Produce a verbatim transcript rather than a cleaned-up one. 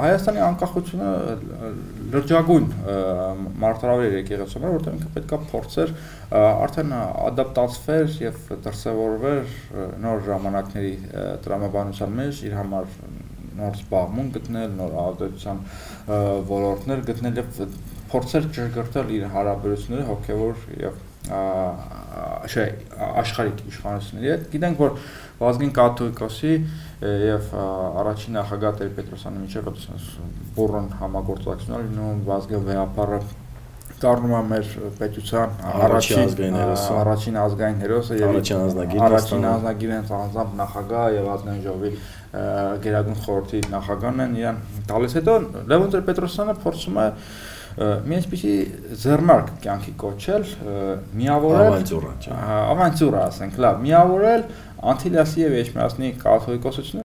Հայաստանի անկախությունը լրջագույն մարտահրավեր եկեղեցում էր, որտեղ ինքը պետք է փորձեր արդեն ադապտացվեր եւ դրսևորվեր նոր ժամանակների տրամաբանության մեջ իր համար նոր զբաղմունք գտնել, նոր ազդեցության ոլորտներ գտնել եւ փորձեր ճշգրտել իր հարաբերությունները հոգեվոր եւ չէ աշխարհիկ իշխանությունների հետ։ Գիտենք, որ Վազգեն Կաթողիկոսի եւ առաջին նախագահ Տեր-Պետրոսյանի միջեւ բուրըն համագործակցություն լինում, Վազգեն վեհապարը դառնում է մեր պետության առաջին առաջին ազգային հերոսը եւ առաջին անձնագիրը անձամբ նախագահ եւ ազգային ժողովի գերագույն խորհրդի նախագահն են իրան տալիս։ Հետո Լևոն Տեր-Պետրոսյանը փորձում է մի այսպիսի ձեռնարկ կյանքի կոչել, միավորել ավանտյուրա, ասենք, լավ, միավորել Անտիլիասի եւ Էջմիածնի կաթողիկոսությունը